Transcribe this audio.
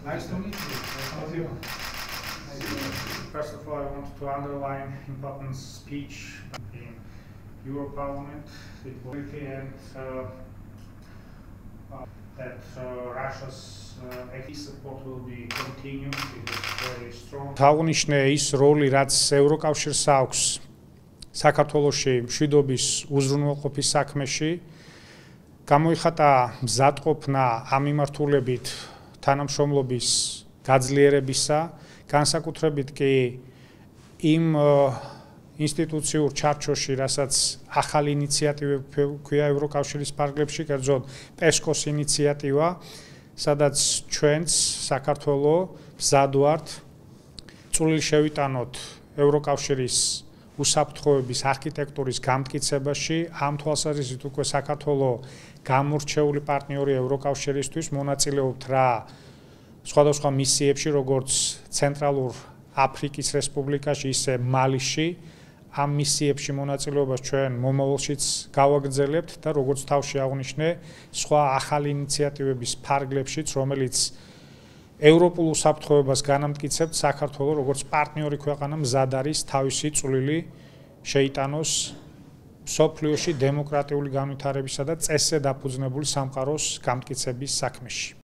Nice to meet you. First of all, I want to underline important speech in Europarlament. It was and that Russia's support will be continued. It is very strong. Თავნიშნე ის როლი, რაც ევროკავშირს აქვს საქართველოში მშვიდობის უზრუნველყოფის საქმეში, გამოიხატა მზადყოფნა ამ მიმართულებით თანამშრომლობის გაძლიერებისა, განსაკუთრებით კი იმ ინსტიტუციურ ჩარჩოში, რასაც ახალი ინიციატივები ქვია ევროკავშირის ფარგლებში, კერძოდ პესკოს ინიციატივა, სადაც ჩვენც საქართველოს მზად ვართ წვლილი შევიტანოთ ევროკავშირის უსაფრთხოების არქიტექტურის გამტკიცებაში, ამ თვალსაზრისით უკვე საქართველოს გამორჩეული პარტნიორი ევროკავშირისთვის მონაწილეობთ რა სხვადასხვა მისიებში, როგორც ცენტრალურ აფრიკის რესპუბლიკაში, ისე მალიში. ამ მისიებში მონაწილეობას ჩვენ მომავალშიც გავაგრძელებთ და როგორც თავში აღნიშნე, სხვა ახალი ინიციატივების ფარგლებშიც, რომელიც ევროპულ უსაფრთხოებას განამტკიცებთ, საქართველოს როგორც პარტნიორი ქვეყანა მზად არის თავისი წვლილი შეიტანოს მსოფლიოში დემოკრატიული განვითარებისა და წესზე დაფუძნებული სამყაროს გამტკიცების საქმეში.